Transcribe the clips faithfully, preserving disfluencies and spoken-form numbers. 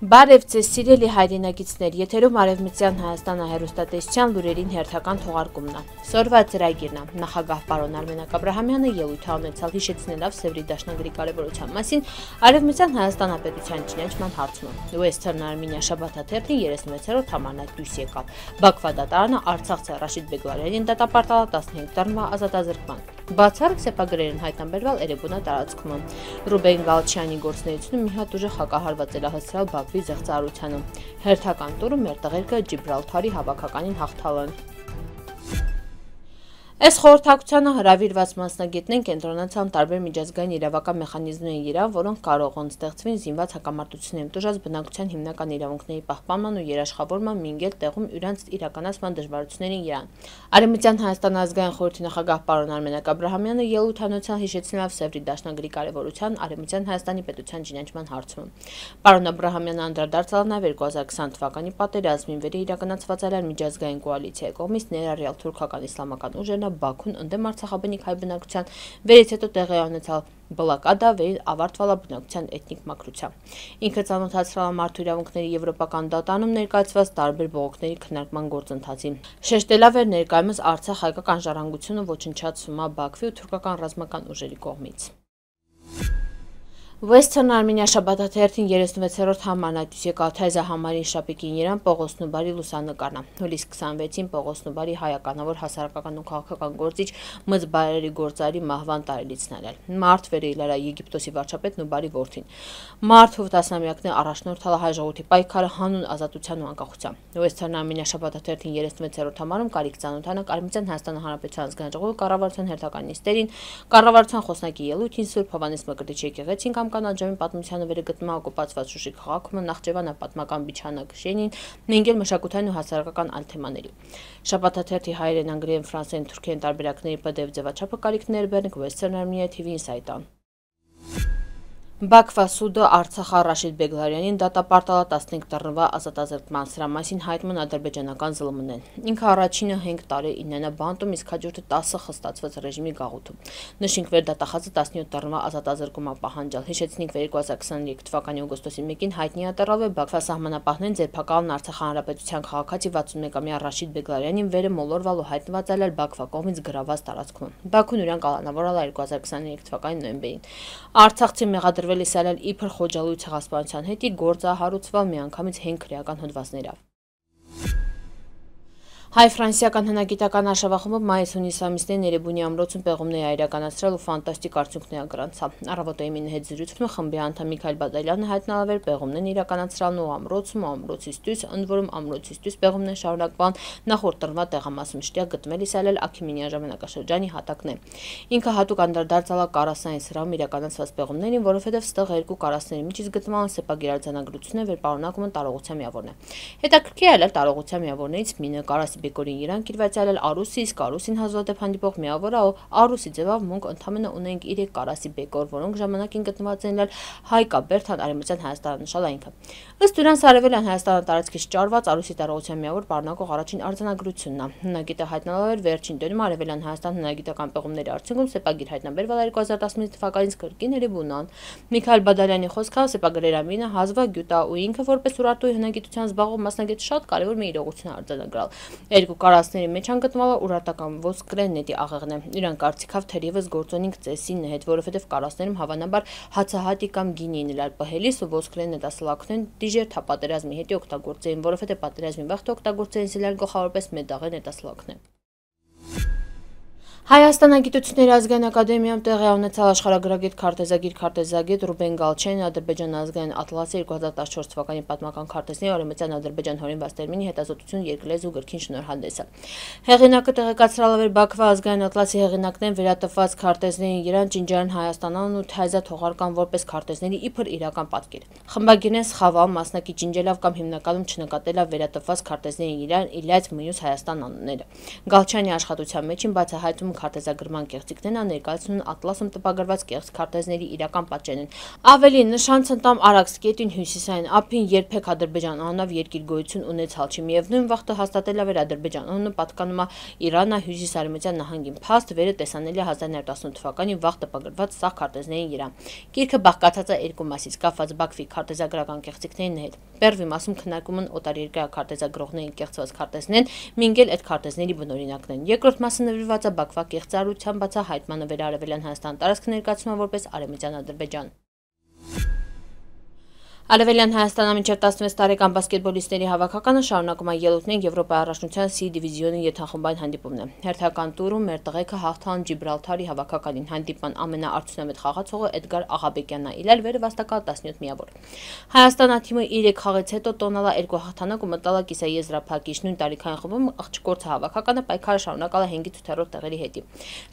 Բարև ձեզ սիրելի հայրենակիցներ, եթերում Արևմտյան Հայաստանը հեռուստատեսության լուրերին հերթական թողարկումն է։ Սորվա ծրագիրն է։ Նախագահ պարոն Արմենակ Աբրահամյանը ելույթ ունեցավ հիշեցնելով Սևրի դաշնագրի կարևորության մասին Արևմտյան Հայաստանապետության ճանաչման հարցում։ Western Armenia շաբաթաթերթին երեսունվեցերորդ համարն դուրս եկավ։ Բաքվա դատարանը Արցախցի Ռաշիդ Բեգլարյանին դատապարտել տասնհինգ տարվա ազատազրկման։ Բացառիկ սեպագրեր են հայտնաբերվել Էրեբունա տարածքում։ Ռուբեն Գալչյանի գործունեությունը մի հատ ուժեղ հակահարված է հասցրել Բաքվի զեղծարությանը։ Հերթական տուրը մեր տղերքը Ջիբրալթարի հավաքականին հաղթալն։ Այս խորհրդակցությանը հրավիրված մասնագետներն կենտրոնացան տարբեր միջազգային իրավական մեխանիզմների վրա, որոնք կարող են ստեղծվին զինված հակամարտությունների տուժած բնակության հիմնական իրավունքների պահպանման ու երաշխավորման մինգել տեղում իրանց իրականացման դժվարություններին իրան։ Արևմտյան Հայաստան ազգային խորհրդի նախագահ պարոն Արմենակ Աբրահամյանը ելույթ ունեցավ հիշեցնելով Սևրի դաշնագրի կարևորության Արևմտյան Հայաստանի պետության ճանաչման հարցում։ Պարոն Աբրահամյանը անդրադարձավ նաև երկու հազար քսան թվականի պատերազմին վեր իրականացված այլ միջազգային կոալիցիայի կողմից ներառյալ թուրքական իսլամական ուժերն Բաքուն ընդդեմ արցախաբնիկ հայ բնակության վերից հետո տեղի ունեցավ բլոկադա վերին ավարտվալա բնակության էթնիկ մաքրության։ Ինքը ծանոթացրել է մարդու իրավունքների եվրոպական դատարանում ներկայացված տարբեր բողոքների քննարկման գործընթացին։ Շեշտելով էր ներկայումս Արցախ հայկական ժառանգությունը ոչնչացվում է Բաքվի ու թուրքական ռազմական ուժերի կողմից։ Western Armenia շաբաթաթերթին երեսունվեցերորդ համարն դուրս եկավ թեզա համարին շապիկին իրան Պողոս Նուբարի լուսանկարն է։ Հուլիսի քսանվեցին Պողոս Նուբարի հայականավոր հասարակական ու քաղաքական գործիչ Մզբարերի գործարի մահվան տարելիցն էր։ Մարտ վերելար է Եգիպտոսի վարչապետ Նուբարի որդին։ Մարտ ու տասնամյակներ առաջնորդալ հայ ժողովրդի պայքարը հանուն ազատության ու անկախության։ Western Armenia շաբաթաթերթին երեսունվեցերորդ համարում կարիք ծանոթանանք Արևմտյան Հայաստանի Հանրապետության ազգային ժողովի կառավարության հերթական նիստերին, կառավարության խոսնակի ելույթին Սուրբ Հովհաննես Մկրտիչի եկեղեցին կամ կանաչամի պատմությանը վերգտնվում օկուպացված Շուշի քաղաքում Նախճեվանա պատմական միջանակշենին, նույնիսկ մշակութային ու հասարակական այլ թեմաների։ Շաբաթաթերթի հայերեն, անգլերեն, ֆրանսերեն, թուրքերեն տարբերակների Պ Դ Վ ձևաչափը կարիքներ բերնք Western Armenia T V Insight-ան։ Բաքվա սուդը Արցախի Ռաշիդ Բեգլարյանին դատապարտել տասնհինգ տարվա ազատազրկման, սրա մասին հայտնում են ադրբեջանական ԶԼՄ-ն։ Ինքը առաջինը հինգ տարի իննենա բանտում, իսկ հաջորդը տասը խստացված ռեժիմի գաղութում։ Նշենք վեր դատախազը տասնյոթ տարվա ազատազրկում է պահանջել։ Հիշեցնենք երկու հազար քսաներեք թվականի օգոստոսի մեկին հայտնի ատառավ է Բաքվա սահմանապահներն ձերբակալն Արցախի Հանրապետության քաղաքացի վաթսունմեկամյա Ռաշիդ Բեգլարյանին վերը մոլորվալ ու հայտնված այլ Բաքվա կողմից գրաված տարածքում։ Բաքուն իրան կալանավորել է երկու հազար քսաներեք թվականի նոյեմբերին։ Արցախցի մեղադրվել իսալել իբր խոջալույց ցեղասպանության հետի գործը հարուցվել միանգամից հինգ քրեական հոդվածներով։ Հայ-ֆրանսիական հնագիտական արշավախումբը մայիս-հունիս ամիսներին Էրեբունի ամրոցում պեղումներ իրականացրել ու ֆանտաստիկ արդյունքներ գրանցավ։ Առավոտային հետ զրույցում խմբի անդամ Միքայել Բադալյանը հայտնվել էր պեղումներ իրականացրելն ու ամրոցում ու ամրոցից դուրս, ընդ որում ամրոցից դուրս պեղումներ շարունակվան նախորդ տրվա տեղամասում շտեղ գտվել իսալել Աքիմինյան ժամանակաշրջանի հատակն է։ Ինքը հատուկ անդրադարձել է Կարասային սրահում իրականացված պեղումներին, որովհետև ստեղ երկու կարասների միջից գտնվան սեպագերարձանագրություններ, որ պարունակում են տարողության միավորն է։ Հետաքրքիր է տարողության միավորներից մինը կարասի Բեկորին իրան կիրվածալել Արուսի, իսկ Արուսին հազվադեպ հանդիպող միավորը Արուսի ձևով մունք ընդամենը ունենք իրեք կարասի բեկոր, որոնք ժամանակին գտնված են Հայկաբերդան Արևմտյան Հայաստանը նշալ այնքը։ Ըստ դրանց Արևելյան Հայաստանը տարածքից ճարված Արուսի տարողության միավոր պարունակող առաջին արձանագրությունն է։ Հնագիտը հայտնվել էր վերջին դերում Արևելյան Հայաստան հնագիտական պեղումների արդյունքում սեպագիր հայտնաբերվել երկու հազար տասնինը թվականից կրկին Էրեբունան։ Միքայել Բադալյանի խոսքով սեպագրեր ամինը հազվա գյուտա ու ինքը որպես ուրարտուի հնագիտության զբաղվող մասնագետ շատ կարևոր մի իրողություն է արձանագրել։ Երկու կարասների մեջ անգտնվալը ուրարտական ոսկրե նետի աղեղն է։ Իրան կարծիքով թերևս գործոնինք ծեսին հետ, որովհետև կարասներում հավանաբար հացահատի կամ գինի նրար պահելիս ու ոսկրե նետասլակներն դիժեր թապատերազմի հետ օգտագործեին, որովհետև պատերազմի վաղ օգտագործեին սիլել գլխավորապես մետաղե նետասլակներ։ Հայաստանի գիտությունների ազգային ակադեմիայում տեղի ունեցավ աշխարհագրագետ քարտեզագիր քարտեզագետ Ռուբեն Գալչյանի Ադրբեջան ազգային ատլասի երկու հազար տասնչորս թվականի պատմական քարտեզների Արևմտյան Ադրբեջան հորինված տերմինի հետազոտություն երկլեզու գրքին շնորհանդեսը։ Հեղինակը տեղեկացրել էր Բաքվա ազգային ատլասի հեղինակներն վերատպված քարտեզներին Իրան, Ճինջարան, Հայաստանն ու Թայզա թողարկան որպես քարտեզների իբր իրական պատկեր։ Խմբագիրն սխավալ մասնակի ջինջելով կամ հիմնականում չնկատելով վերատպված քարտեզների Իրան, Իլյաց, Մյութ Հայաստան անունները։ Գալչյանի աշխատության մեջ բացահայտում Հայաստանում քարտեզագրման կեղծիքներն ներկայացնում ատլասում տպագրված կեղծ քարտեզների իրական պատճենն են։ Ավելին, նշան-ցնտամ Արաքս գետին հյուսիսային ափին երբեք Ադրբեջան անունով երկիր գոյություն ունեցալ չի։ Միևնույն վաղտը հաստատել էր Ադրբեջան անունը պատկանում է Իրանա հյուսիսարևմտյան նահանգին։ Փաստ վերը տեսանելի է հազար նոյ տասնութ թվականին վաղ տպագրված սաղ քարտեզներին վրա։ Գիրքը բաղկացած է երկու մասից՝ կապված Բաքվի քարտեզագրական կեղծիքների հետ։ Պերվի մասում քննարկում են օտարերկրյա քարտեզագրողների կեղծված քարտեզներն, մինչև այդ քարտեզների բնօրինակներն։ Երկրորդ մասը նվիրված է Բաքվա կեղծարարության բացահայտմանը վերարևելյան Հայաստան տարածքը ներկայացնում որպես Արևմտյան Ադրբեջան։ Արևելյան Հայաստանը մինչև տասնվեց տարեկան բասկետբոլիստների հավաքականը շարունակում է ելույթներ Եվրոպայի առաջնության C դիվիզիոնի յոթախմբային հանդիպումն է։ Հերթական տուրում մեր տղեկը հաղթան Ջիբրալթարի հավաքականին։ Հանդիպման ամենաարդյունավետ խաղացողը Էդգար Աղաբեկյանն է, իլել վերը վաստակալ տասնյոթ միավոր։ Հայաստանը թիմը իր երեք խաղից հետո տոնալա երկու հաղթանակ ու մտալա կիսաեզրափակիչ նույն տարիքային խմբում աղջկորցը հավաքականը պայքարը շարունակալ է հինգից ութերորդ տեղերի հետ։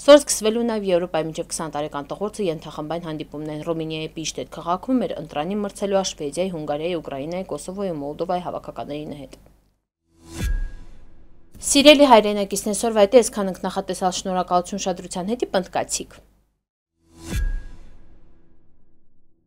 Սոր սկսվելու նաև Եվրոպայի մինչև քսան տարեկան տղորցը ենթախմբային հանդիպումն են Ռումինիայի Պիշտետ քաղաքում մեր ընտրանի մրցելու Շվեդիայի, Հունգարիայի, Ուկրաինայի, Կոսովոյի ու Մոլդովայի հավաքականների հետ։ Սիրելի հայրենակիցներ, սորվա հետ այսքան ենք, նախատեսած շնորհակալություն ուշադրության հետի պնդկացիք։